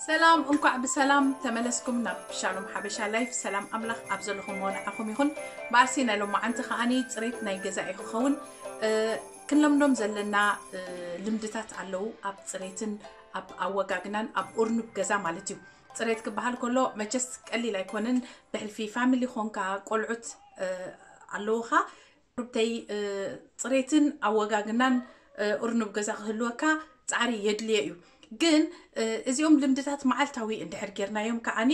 ሰላም፣ እንኳዕ ብሰላም ተመለስኩም ናብ ሻሎም ሓበሻ ላይፍ። ሰላም ኣምላኽ ኣብ ዘለኹም ወንዓኹም ይኹን። ብኣርሲ ናይ ሎማዓንቲ ከዓኒ ጽሬት ናይ ገዛ እዩ ክኸውን። እ፣ ክንለምዶም ዘለና፣ እ፣ ልምድታት ኣለዉ ኣብ ጽሬትን ኣብ ኣወጋግናን ኣብ ኡርኑብ ገዛ ማለት እዩ። ጽሬት ክበሃል ከሎ መቸስ ቀሊል ኣይኮንን። ብሕልፊ ፋሚሊ ኾንካ ቆልዑት፣ እ፣ ኣለዉኻ። ቁርብተይ፣ እ፣ ጽሬትን ኣወጋግናን፣ እ፣ ኡርኑብ ገዛ ክህልወካ ጻዕሪ የድልዮ እዩ። ግን፣ እ፣ እዚኦም ልምድታት መዓልታዊ እንድሕር ጌርናዮም ከዓኒ፣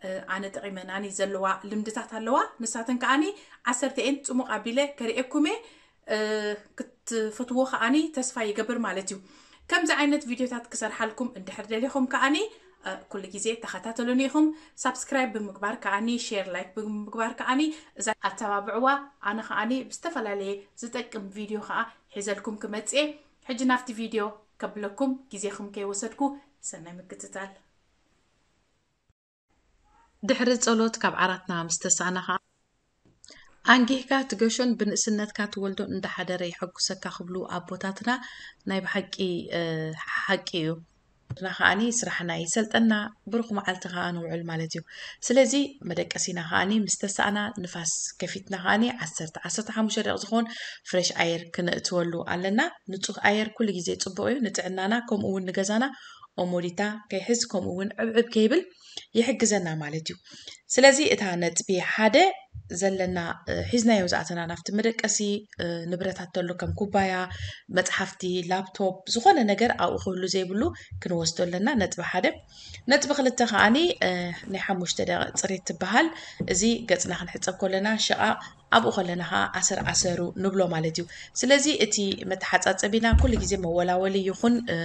እ፣ ኣነ ጠቒመናኒ ዘለዋ ልምድታት ኣለዋ። ንሳተን ከዓኒ ዓሰርተ እየን ጽሙቕ ኣቢለ ከርእየኩም እየ። እ፣ ክትፈትዎ ከዓኒ ተስፋ ይገብር ማለት እዩ። ከምዚ ዓይነት ቪድዮታት ክሰርሓልኩም እንድሕር ደሊኹም ከዓኒ፣ እ፣ ኩሉ ግዜ ተኸታተሉኒ ኢኹም። ሳብስክራይብ ብምግባር ከዓኒ፣ ሼር፣ ላይክ ብምግባር ከዓኒ እዛ ኣተባብዕዋ። ኣነ ከዓኒ ብዝተፈላለየ ዝጠቅም ቪድዮ ከኣ ሒዘልኩም ክመጽእ እየ። ሕጂ ናብቲ ቪድዮ ከብለኩም ግዜኹም ከይወሰድኩ ሰናይ ምክትታል። ድሕሪ ጸሎት ካብ ዓራትና ምስ ተሳእና ከኣ፣ ኣንጊህካ ትገሾን ብንእስነትካ ትወልዶን እንዳሓደረ የሐጉሰካ ክብሉ ኣቦታትና ናይ ብሓቂ፣ እ፣ ሓቂ እዩ። ንሕና ከኣኒ ስራሕና ይሰልጠና፣ ብሩኽ መዓልቲ ከኣ ንውዕል ማለት እዩ። ስለዚ መደቀሲና ከኣኒ ምስ ተሳእና ንፋስ ከፊትና ከኣኒ ዓሰርተ፣ ዓሰርተ ሓሙሽተ ደቂቕ ዝኾን ፍሬሽ ኣየር ክነእትወሉ ኣለና። ንጹህ ኣየር ኩሉ ግዜ ጽቡቕ እዩ ንጥዕናና፣ ከምኡ እውን ንገዛና ኦሞዲታ ከይሕዝ፣ ከምኡ እውን ዕብዕብ ከይብል ይሕግዘና ማለት እዩ። ስለዚ እታ ነጥቢ ሓደ ዘለና፣ እ፣ ሒዝናዮ ዝኣተና ናብቲ መደቀሲ፣ እ፣ ንብረታት ተሎ ከም ኩባያ፣ መጽሓፍቲ፣ ላፕቶፕ፣ ዝኾነ ነገር ኣብኡ ክህሉ ዘይብሉ ክንወስዶ ኣለና። ነጥቢ ሓደ። ነጥቢ ክልተ ከኣኒ፣ እ፣ ናይ ሓሙሽተ ደቂቕ ጽሬት ትበሃል። እዚ ገጽና ክንሕጸብ ከለና ሽቓቕ ኣብኡ ከለና ኸዓ ኣሰር ኣሰሩ ንብሎ ማለት እዩ። ስለዚ እቲ መተሓጻጸቢና ኩሉ ግዜ መወላወሊ ይኹን፣ እ፣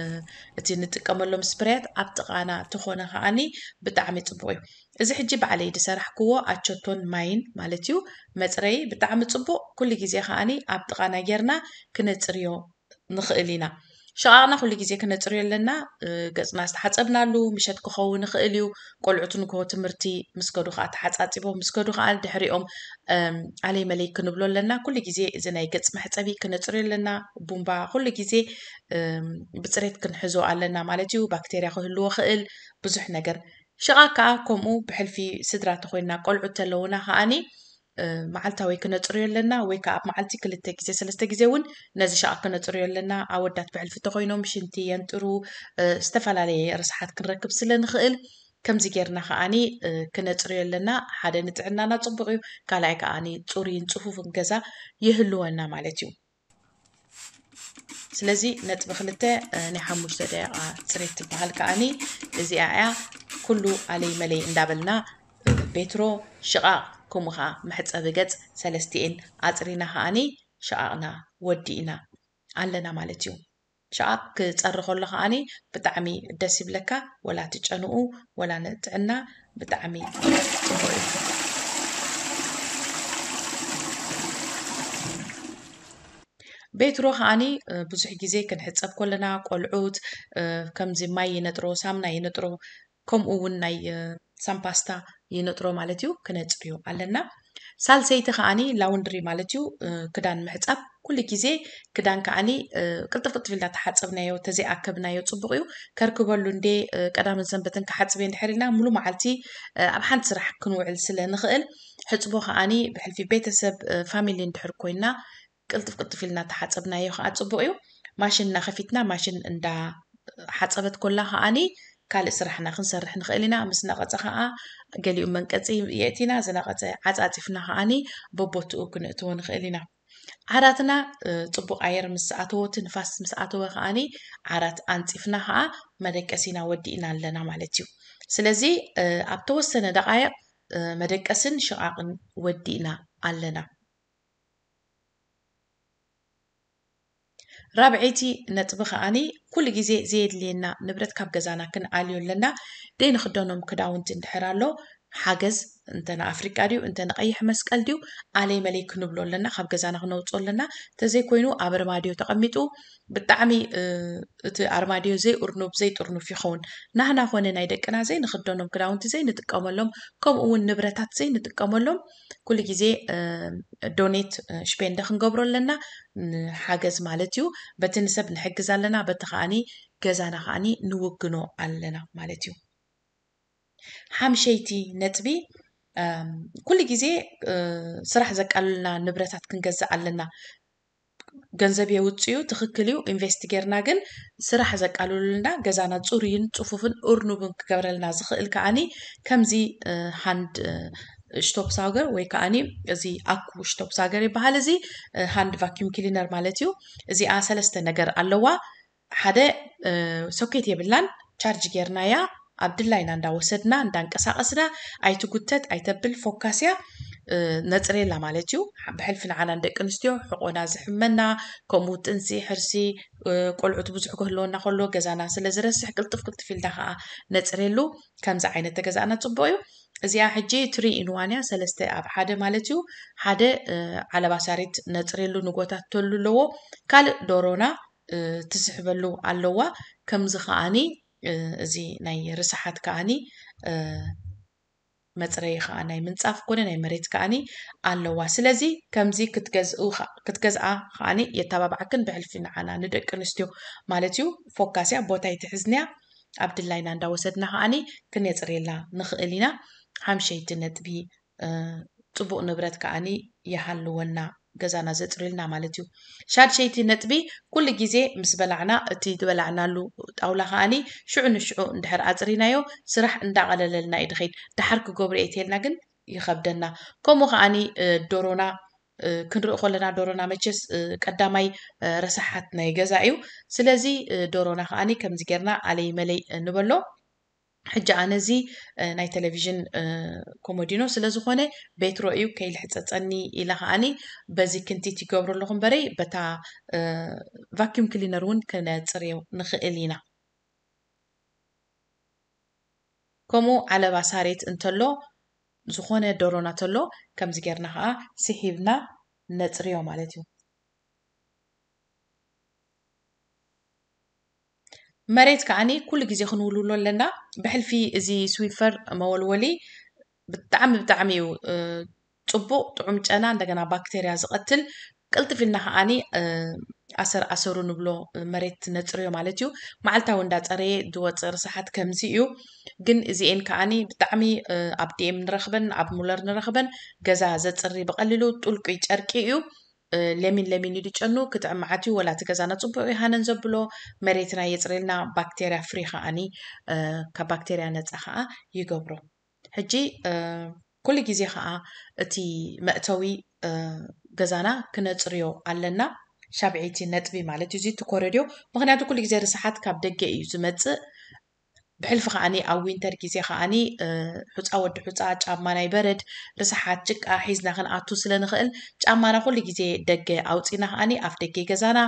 እቲ ንጥቀመሎም ስፕሬያት ኣብ ጥቓና ተኾነ ከኣኒ ብጣዕሚ ጽቡቕ እዩ። እዚ ሕጂ ባዕለይ ዝሰራሕክዎ ኣቸቶን ማይን ማለት እዩ። መጽረዪ ብጣዕሚ ጽቡቕ። ኩሉ ግዜ ከኣኒ ኣብ ጥቓና ጌርና ክነጽርዮ ንኽእል ኢና። ሽቓቕና ኩሉ ግዜ ክነጽርዮ ኣለና። እ፣ ገጽና ዝተሓጸብናሉ ምሸት ክኸውን ይኽእል እዩ። ቆልዑት ንግሆ ትምህርቲ ምስ ከዱ ከኣ ተሓጻጺቦም ምስ ከዱ ከኣ ድሕሪኦም፣ እም፣ ኣለይ መለይ ክንብሎ ኣለና። ኩሉ ግዜ እዚ ናይ ገጽ መሕጸቢ ክነጽርዮ ኣለና። ቡምባ ኩሉ ግዜ፣ እም፣ ብጽሬት ክንሕዞ ኣለና ማለት እዩ። ባክቴርያ ክህልዎ ክእል ብዙሕ ነገር። ሽቓቕ ከኣ ከምኡ ብሕልፊ ስድራ ተኾይንና ቆልዑት ተለዉና ከኣኒ፣ እ፣ መዓልታዊ ክነጽርዮ ኣለና ወይ ከኣ ኣብ መዓልቲ ክልተ ግዜ ሰለስተ ግዜ እውን ነዚ ሽቓቕ ክነጽርዮ ኣለና። ኣወዳት ብሕልፊ ተኾይኖም ሽንቲ የንጥሩ፣ እ፣ ዝተፈላለየ ርስሓት ክንረክብ ስለ ንኽእል ከምዚ ጌርና ከኣኒ፣ እ፣ ክነጽርዮ ኣለና። ሓደ ንጥዕናና ጽቡቕ እዩ፣ ካልኣይ ከኣኒ ጽሩይን ጽፉፍን ገዛ ይህልወና ማለት እዩ። ስለዚ ነጥቢ ክልተ፣ እ፣ ናይ ሓሙሽተ ደቂቓ ጽሬት ትበሃል ከኣኒ እዚኣ እያ። ኩሉ ኣለይ መለይ እንዳበልና፣ እ፣ ቤትሮ፣ ሽቓቕ፣ ከምኡ ኸዓ መሕጸቢ ገጽ ሰለስቲኤን ኣጽሪና ከኣኒ ሽቓቕና ወዲእና ኣለና ማለት እዩ። ሽቓቕ ክጸሪ ከሎ ከኣኒ ብጣዕሚ ደስ ይብለካ፣ ወላ እቲ ጨንኡ ወላ ንጥዕና ብጣዕሚ ጽቡቕ እዩ። ቤትሮ ከኣኒ፣ እ፣ ብዙሕ ግዜ ክንሕጸብ ከለና ቆልዑት፣ እ፣ ከምዚ ማይ ይነጥሮ፣ ሳምና ይነጥሮ፣ ከምኡ እውን ናይ፣ እ፣ ሳምፓስታ ይነጥሮ ማለት እዩ፣ ክነጽርዮ ኣለና። ሳልሰይቲ ከኣኒ ላውንድሪ ማለት እዩ፣ እ፣ ክዳን ምሕጻብ። ኩሉ ግዜ ክዳን ከኣኒ፣ እ፣ ቅልጥፍ ቅልጥፍ ኢልና ተሓጸብናዮ፣ ተዘይኣከብናዮ ጽቡቕ እዩ። ከርክበሉ እንዴ፣ እ፣ ቀዳምን ሰንበትን ክሓጽብ እየ እንድሕር ኢልና፣ ሙሉ መዓልቲ፣ እ፣ ኣብ ሓንቲ ስራሕ ክንውዕል ስለ ንኽእል፣ ሕጽቦ ከኣኒ ብሕልፊ ቤተሰብ፣ እ፣ ፋሚሊ እንድሕር ኮይና፣ ቅልጥፍ ቅልጥፍ ኢልና ተሓጸብናዮ ከኣ ጽቡቕ እዩ። ማሽንና ከፊትና፣ ማሽን እንዳ ሓጸበት ኮላ ከኣኒ፣ ካልእ ስራሕና ክንሰርሕ ንኽእል ኢና። ምስ ነቐጸ ከኣ፣ ገሊኡ መንቀጺ የእቲና፣ ዝነቐጸ ዓጻጺፍና ከኣኒ፣ በቦትኡ ክነእትዎ ንኽእል ኢና። ዓራትና፣ እ፣ ጽቡቕ ኣየር ምስ ኣተዎ፣ እቲ ንፋስ ምስ ኣተወ ከኣኒ፣ ዓራት ኣንጺፍና ከኣ፣ መደቀሲና ወዲእና ኣለና ማለት እዩ። ስለዚ፣ እ፣ ኣብ ተወሰነ ደቓይቕ፣ እ፣ መደቀስን ሽቓቕን ወዲእና ኣለና። ራብዐይቲ ነጥቢ ከኣኒ፣ ኩሉ ግዜ ዘየድልየና ንብረት ካብ ገዛና ክንኣልዮ ኣለና። ደይ ንኽደኖም ክዳውንቲ እንድሕር ኣሎ፣ ሓገዝ፣ እንተ ንኣፍሪቃ ድዩ፣ እንተ ንቐይሕ መስቀል ድዩ፣ ኣለይ መለይ ክንብሎ ኣለና፣ ካብ ገዛና ክነውፅኦ ኣለና። እንተዘይኮይኑ፣ ኣብ ኣርማድዮ ተቐሚጡ፣ ብጣዕሚ፣ እ፣ እቲ ኣርማድዮ ዘይእርኑብ፣ ዘይጥርኑፍ ይኸውን። ናህና ኾነ ናይ ደቅና ዘይንኽደኖም ክዳውንቲ ዘይንጥቀመሎም፣ ከምኡ እውን ንብረታት ዘይንጥቀመሎም፣ ኩሉ ግዜ፣ እ፣ ዶኔት፣ እ፣ ሽፔንደ ክንገብሮ ኣለና፣ ንሓገዝ ማለት እዩ። በቲ ንሰብ ንሕግዝ ኣለና፣ በቲ ከኣኒ ገዛና ከኣኒ ንውግኖ ኣለና ማለት እዩ። ሓምሸይቲ ነጥቢ፣ እም፣ ኩሉ ግዜ፣ እ፣ ስራሕ ዘቃልልና ንብረታት ክንገዝእ ኣለና። ገንዘብ የውፅኡ፣ ትኽክል እዩ፣ ኢንቨስት ጌርና፣ ግን ስራሕ ዘቃልሉልና፣ ገዛና ፅሩይን ፅፉፍን እርኑብን ክገብረልና ዝኽእል ከኣኒ ከምዚ፣ እ፣ ሃንድ፣ እ፣ ሽቶፕሳውገር ወይ ከኣኒ እዚ ኣኩ ሽቶፕሳውገር ይበሃል። እዚ፣ እ፣ ሃንድ ቫኪዩም ክሊነር ማለት እዩ። እዚኣ ሰለስተ ነገር ኣለዋ። ሓደ፣ እ፣ ሶኬት የብላን፣ ቻርጅ ጌርናያ ኣብ ድላይና እንዳወሰድና እንዳንቀሳቐስና፣ ኣይትጉተት ኣይተብል፣ ፎካስያ፣ እ፣ ነፅሬላ ማለት እዩ። ብሕልፊ ንዓና ንደቂ ኣንስትዮ ሕቆና ዝሕመና፣ ከምኡ ጥንሲ፣ ሕርሲ፣ እ፣ ቆልዑት ብዙሕ ክህልወና ከሎ ገዛና ስለ ዝረስሕ ቅልጥፍ ቅልጥፍ ኢልና ከዓ ነፅሬሉ። ከምዚ ዓይነት ተገዛእና ፅቡቅ እዩ። እዚኣ ሕጂ ትሪ ኢን ዋን እያ፣ ሰለስተ ኣብ ሓደ ማለት እዩ። ሓደ፣ እ፣ ዓለባ ሳሬት ነፅሬሉ ንጎታተሉ ኣለዎ። ካልእ ዶሮና፣ እ፣ ትስሕበሉ ኣለዋ። ከምዚ ከኣኒ፣ እ፣ እዚ ናይ ርስሓት ከኣኒ፣ እ፣ መፅረዪ ከዓ ናይ ምንፃፍ ኮነ ናይ መሬት ከኣኒ ኣለዋ። ስለዚ ከምዚ ክትገዝኡ ከ-፣ ክትገዝኣ ከኣኒ የተባባዕክን ብሕልፊ ንዓና ንደቂ ኣንስትዮ ማለት እዩ። ፎካስያ ቦታ ኣይትሕዝንያ፣ ኣብ ድላይና እንዳወሰድና ከኣኒ ክነፅርየላ ንኽእል ኢና። ሓምሸይቲ ነጥቢ፣ እ፣ ፅቡቅ ንብረት ከኣኒ ይሃልወና፣ ገዛና ዘፅርዩልና ማለት እዩ። ሻድሸይቲ ነጥቢ፣ ኩሉ ግዜ ምስ በላዕና እቲ ዝበላዕናሉ ጣውላ ከኣኒ ሽዑ ንሽዑ እንድሕር ኣፅሪናዮ ስራሕ እንዳቐለለልና እዩ ድኸይድ። ደሓር ክገብሮ እየ ተልና ግን ይኸብደና። ከምኡ ከኣኒ፣ እ፣ ዶሮና፣ እ፣ ክንርኢ ከለና ዶሮና መቸስ፣ እ፣ ቀዳማይ፣ እ፣ ረሳሓት ናይ ገዛ እዩ። ስለዚ፣ እ፣ ዶሮና ከኣኒ ከምዚ ጌርና ኣለይ መለይ፣ እ፣ ንበሎ። ሕጂ ኣነ እዚ፣ እ፣ ናይ ቴሌቪዥን፣ እ፣ ኮሞዲኖ ስለ ዝኾነ ቤትሮ እዩ ከይልሕጸጸኒ ኢለ ከኣኒ በዚ ክንቲት ይገብሮ ኣለኹ እምበረይ በታ፣ እ፣ ቫኪዩም ክሊነር እውን ክነጽርዮ ንኽእል ኢና። ከምኡ ዓለባ ሳሬት እንተሎ፣ ዝኾነ ዶሮና ተሎ ከምዚ ጌርና ከኣ ስሒብና ነጽርዮ ማለት እዩ። መሬት ከኣኒ ኩሉ ግዜ ክንውልውሎ ኣለና። ብሕልፊ እዚ ስዊፈር መወልወሊ ብጣዕሚ፣ ብጣዕሚ እዩ፣ እ፣ ጽቡቕ ጥዑም ጨና፣ እንደገና ባክቴርያ ዝቐትል፣ ቅልጥፍ ኢልና ከኣኒ፣ እ፣ ኣሰር ኣሰሩ ንብሎ፣ እ፣ መሬት ነጽርዮ ማለት እዩ። መዓልታዊ እንዳጸረየ ዝወጽእ ርስሓት ከምዚ እዩ። ግን እዚኤን ከኣኒ ብጣዕሚ፣ እ፣ ኣብ ዲ ኤም ንረኽበን፣ ኣብ ሙለር ንረኽበን፣ ገዛ ዘጽሪ ብቐሊሉ ጥልቁይ ጨርቂ እዩ። እ፣ ለሚን ለሚን እዩ ዝጨኑ፣ ክጥዕም መዓት እዩ። ወላ እቲ ገዛና ጽቡቕ እዩ ሃነን ዘብሎ፣ መሬትና የጽርየልና፣ ባክቴርያ ፍሪ ከኣኒ፣ እ፣ ካብ ባክቴርያ ነጻ ከኣ ይገብሮ። ሕጂ፣ እ፣ ኩሉ ግዜ ከኣ እቲ መእተዊ፣ እ፣ ገዛና ክነጽርዮ ኣለና። ሻብዐይቲ ነጥቢ ማለት እዩ፣ እዚ እቲ ኮረድዮ። ምኽንያቱ ኩሉ ግዜ ርስሓት ካብ ደገ እዩ ዝመጽእ። ብሕልፊ ከኣኒ ኣብ ዊንተር ግዜ ከኣኒ፣ እ፣ ሑጻ ወዲ ሑጻ፣ ጫማ ናይ በረድ፣ ርስሓት፣ ጭቃ ሒዝና ክንኣቱ ስለ ንኽእል፣ ጫማና ኩሉ ግዜ ደገ ኣውጺና ከኣኒ ኣፍ ደገ ገዛና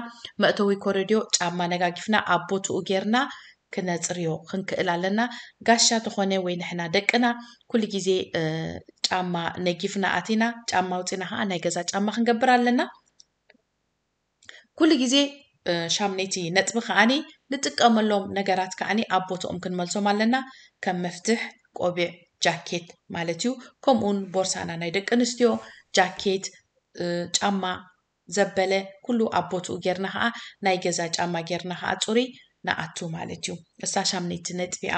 መእተዊ ኮረድዮ ጫማ ነጋጊፍና ኣብ ቦትኡ ጌርና ክነጽርዮ ክንክእል ኣለና። ጋሻ ተኾነ ወይ ንሕና ደቅና ኩሉ ግዜ፣ እ፣ ጫማ ነጊፍና ኣቲና፣ ጫማ ኣውጺና ከኣ ናይ ገዛ ጫማ ክንገብር ኣለና። ኩሉ ግዜ፣ እ፣ ሻምነይቲ ነጥቢ ከኣኒ ንጥቀመሎም ነገራት ከኣኒ ኣብ ቦትኦም ክንመልሶም ኣለና። ከም መፍትሕ፣ ቆቢዕ፣ ጃኬት ማለት እዩ። ከምኡውን ቦርሳና ናይ ደቂ ኣንስትዮ ጃኬት፣ እ፣ ጫማ ዘበለ ኩሉ ኣብ ቦትኡ ጌርና ከኣ ናይ ገዛ ጫማ ጌርና ከኣ ጽሩይ ንኣቱ ማለት እዩ። እሳ ሻምነይቲ ነጥቢ እያ።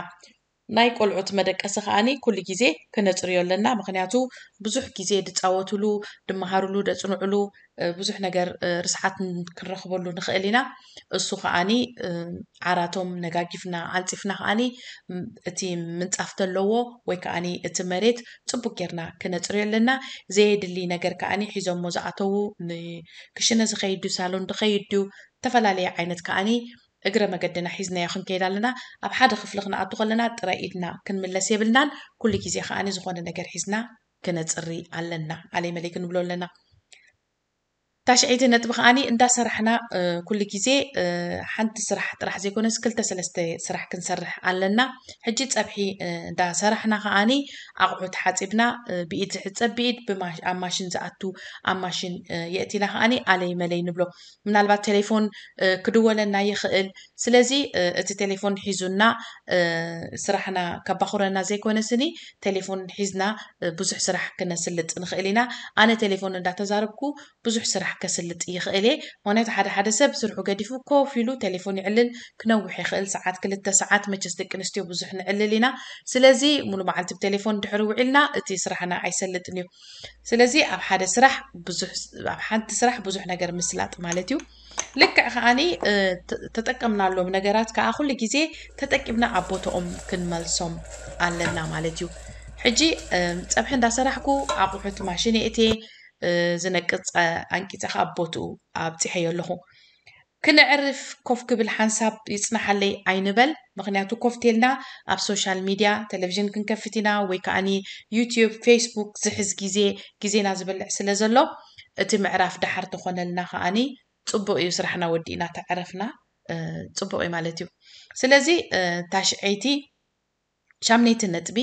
ናይ ቆልዑት መደቀሲ ከኣኒ ኩሉ ግዜ ክነጽርዮ ኣለና። ምኽንያቱ ብዙሕ ግዜ ድጻወቱሉ፣ ድመሃሩሉ፣ ደጽንዑሉ፣ እ፣ ብዙሕ ነገር፣ እ፣ ርስሓት ን-፣ ክንረኽበሉ ንኽእል ኢና። እሱ ከኣኒ፣ እ፣ ዓራቶም ነጋጊፍና፣ ኣንጺፍና ከኣኒ፣ ም-፣ እቲ ምንጻፍ ተለዎ ወይ ከኣኒ እቲ መሬት ጽቡቅ ጌርና ክነጽርዮ ኣለና። ዘየድሊ ነገር ከኣኒ ሒዞሞ ዝኣተዉ፣ ንክሽነ ዝኸይድ ድዩ፣ ሳሎን ድኸይድ ድዩ፣ ዝተፈላለየ ዓይነት ከኣኒ እግረ መገድና ሒዝናዮ ክንከይድ ኣለና። ኣብ ሓደ ክፍሊ ክንኣቱ ከለና ጥረ ኢድና ክንምለስ የብልናን። ኩሉ ግዜ ከኣኒ ዝኾነ ነገር ሒዝና ክነጽሪ ኣለና። ኣለይ መለይ ክንብሎ ኣለና። ታሽዐይቲ ነጥቢ ከኣኒ እንዳሰራሕና፣ እ፣ ኩሉ ግዜ፣ እ፣ ሓንቲ ስራሕ ጥራሕ ዘይኮነስ ክልተ ሰለስተ ስራሕ ክንሰርሕ ኣለና። ሕጂ ጸብሒ፣ እ፣ እንዳሰራሕና ከኣኒ ኣቑሑት ሓጺብና፣ እ፣ ብኢድ ዝሕጸብ ብኢድ፣ ብማ-፣ ኣብ ማሽን ዝኣቱ ኣብ ማሽን፣ እ፣ የእቲና ከኣኒ ኣለይ መለይ ንብሎ። ምናልባት ቴሌፎን፣ እ፣ ክድወለና ይኽእል። ስለዚ፣ እ፣ እቲ ቴሌፎን ሒዙና፣ እ፣ ስራሕና ከባኹረና ዘይኮነ ስኒ ቴሌፎን ሒዝና፣ እ፣ ብዙሕ ስራሕ ክነስልጥ ንኽእል ኢና። ኣነ ቴሌፎን እንዳተዛረብኩ ብዙሕ ስራሕ ከስልጥ ይኽእል እየ። ምክንያቱ ሓደ ሓደ ሰብ ስርሑ ገዲፉ ኮፍ ኢሉ ቴሌፎን ይዕልል፣ ክነውሕ ይኽእል፣ ሰዓት፣ ክልተ ሰዓት። መቸስ ደቂ ኣንስትዮ ብዙሕ ንዕልል ኢና። ስለዚ ሙሉ መዓልቲ ብቴሌፎን ድሕሪ ውዒልና እቲ ስራሕና ኣይሰልጥን እዩ። ስለዚ ኣብ ሓደ ስራሕ ብዙሕ ኣብ ሓንቲ ስራሕ ብዙሕ ነገር ምስላጥ ማለት እዩ። ልክዕ ከዓኒ ተጠቀምናሎም ነገራት ከዓ ኩሉ ግዜ ተጠቂምና ኣብ ቦታኦም ክንመልሶም ኣለና ማለት እዩ። ሕጂ ፀብሒ እንዳሰራሕኩ ኣቑሑት ማሽን የእትየ፣ ዝነቅፅ ኣንቂፀ ከዓ ቦትኡ ኣብፂሐዮ ኣለኹ። ክነዕርፍ ኮፍ ክብል ሓንሳብ ይፅናሓለይ ኣይንበል። ምክንያቱ ኮፍ ቴልና ኣብ ሶሻል ሚድያ ቴሌቪዥን ክንከፍት ኢና ወይ ከዓኒ ዩትዩብ፣ ፌስቡክ ዝሕዝ ግዜ ግዜና ዝበልዕ ስለ ዘሎ እቲ ምዕራፍ ደሓር ተኾነልና ከዓኒ ፅቡቕ እዩ። ስራሕና ወዲእና ተዕረፍና ፅቡቕ እዩ ማለት እዩ። ስለዚ ታሽዐይቲ ሻምነይቲ ነጥቢ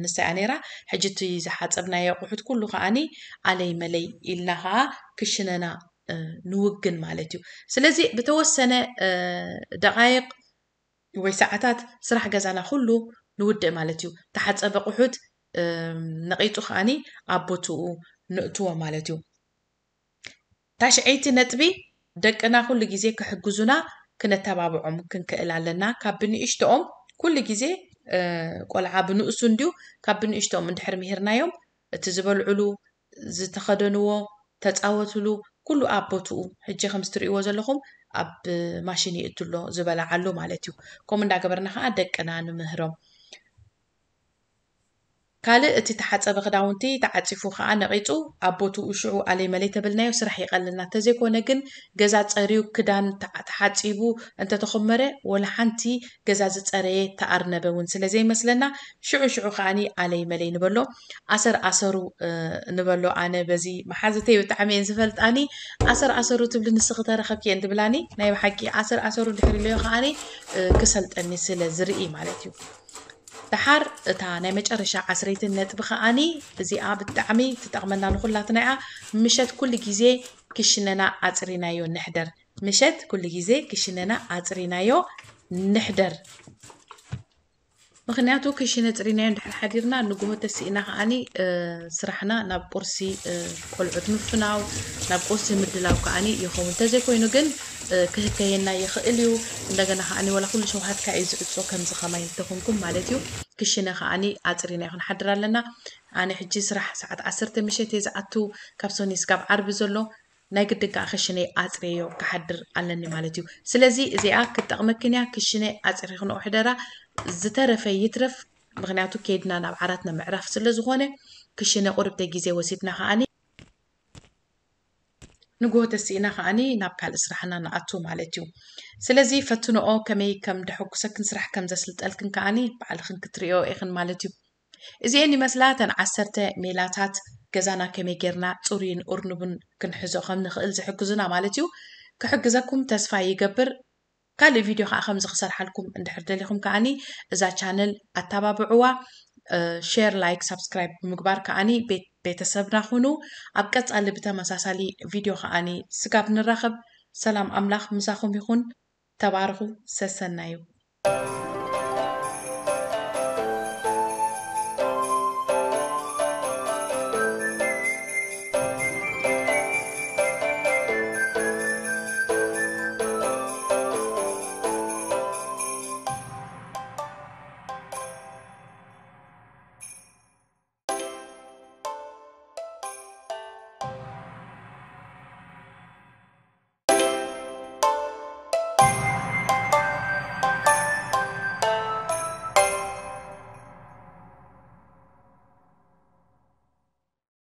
ንሳ እያ ነይራ። ሕጂ እቲ ዝሓፀብናዮ ኣቑሑት ኩሉ ከዓኒ ኣለይ መለይ ኢልና ከዓ ክሽነና ንውግን ማለት እዩ። ስለዚ ብተወሰነ ደቃይቅ ወይ ሰዓታት ስራሕ ገዛና ኩሉ ንውድእ ማለት እዩ። ተሓፀበ ኣቑሑት ነቂፁ ከዓኒ ኣብ ቦትኡ ንእትዎ ማለት እዩ። ታሽዐይቲ ነጥቢ ደቅና ኩሉ ግዜ ክሕግዙና ክነተባብዖም ክንክእል ኣለና። ካብ ብንእሽተኦም ኩሉ ግዜ ቆልዓ ብንእሱ እንድዩ ካብ ብንእሽተኦም እንድሕር ምሂርናዮም እቲ ዝበልዕሉ ዝተኸደንዎ ተፃወትሉ ኩሉ ኣብ ቦትኡ ሕጂ ከምዚ ትርእይዎ ዘለኹም ኣብ ማሽን ይእትሎ ዝበልዓሉ ማለት እዩ። ከምኡ እንዳገበርና ከዓ ደቅና ንምህሮም። ካልእ እቲ ተሓፀበ ክዳውንቲ ተዓፂፉ ከዓ ነቂፁ ኣብ ቦትኡ ሽዑ ኣለይ መለይ ተበልናዮ ስራሕ ይቀልልና። እንተዘይኮነ ግን ገዛ ፀርዩ ክዳን ተሓፂቡ እንተተኾመረ ወላ ሓንቲ ገዛ ዝፀረየ ተኣርነበ እውን ስለዘይመስለና ሽዑ ሽዑ ከዓኒ ኣለይ መለይ ንበሎ። ኣሰር ኣሰሩ ንበሎ። ኣነ በዚ መሓዝተይ ብጣዕሚ እየን ዝፈልጣኒ። ኣሰር ኣሰሩ ትብሊ ንስኺ ተረኸብኪ እየን ትብላኒ። ናይ ብሓቂ ኣሰር ኣሰሩ ድሕሪ ኢለዮ ከዓኒ ክሰልጠኒ ስለ ዝርኢ ማለት እዩ። ደሓር እታ ናይ መጨረሻ ዓስረይትን ነጥቢ ከዓኒ እዚኣ ብጣዕሚ ትጠቕመና ንኹላትና እያ። ምሸት ኩሉ ግዜ ክሽነና ኣፅሪናዮ ንሕደር። ምሸት ኩሉ ግዜ ክሽነና ኣፅሪናዮ ንሕደር። ምክንያቱ ክሽነ ፅሪናዮ እንድሕር ሓዲርና ንጉሆ ተሲእና ከዓኒ ስራሕና ናብ ቁርሲ ቆልዑት ምፍናው ናብ ቁርሲ ምድላው ከዓኒ ይኸውን። እንተዘይኮይኑ ግን ክህከየና ይኽእል እዩ። እንደገና ከዓኒ ወላ ኩሉ ሸውሃትካ እዩ ዝዕፆ ከምዚ ከማይ እንተኾንኩም ማለት እዩ። ክሽነ ከዓኒ ኣፅሪናዮ ክንሓድር ኣለና። ኣነ ሕጂ ስራሕ ሰዓት ዓሰርተ ምሸት እየ ዝኣቱ ካብ ሰኒ ስጋብ ዓርቢ ዘሎ ናይ ግድን ከዓ ክሽነይ ኣፅርየዮ ክሓድር ኣለኒ ማለት እዩ። ስለዚ እዚኣ ክትጠቕመክን እያ። ክሽነ ኣፅሪኽንኦ ሕደራ፣ ዝተረፈ ይትረፍ። ምክንያቱ ከይድና ናብ ዓራትና ምዕራፍ ስለ ዝኾነ ክሽነ ቁርብተ ግዜ ወሲድና ከዓኒ ንግሆ ተሲእና ከዓኒ ናብ ካልእ ስራሕና ንኣቱ ማለት እዩ። ስለዚ ፈትንኦ፣ ከመይ ከም ደሐጉሰክን ስራሕ ከም ዘስልጠልክን ከዓኒ ባዕልኽን ክትርእዮ ኢኽን ማለት እዩ። እዚኤን ይመስላ እተን ዓሰርተ ሜላታት ገዛና ከመይ ጌርና ፅሩይን እርኑብን ክንሕዞ ከም ንኽእል ዝሕግዙና ማለት እዩ። ክሕግዘኩም ተስፋ ይገብር። ካልእ ቪድዮ ከዓ ከምዚ ክሰርሓልኩም እንድሕር ደሊኹም ከዓኒ እዛ ቻነል ኣተባብዕዋ። ሼር፣ ላይክ፣ ሳብስክራይብ ብምግባር ከዓኒ ቤተሰብና ኩኑ። ኣብ ቀፃሊ ብተመሳሳሊ ቪድዮ ከዓኒ ስጋብ ንራኸብ ሰላም ኣምላኽ ምሳኹም ይኹን። ተባረኹ። ሰሰናዩ።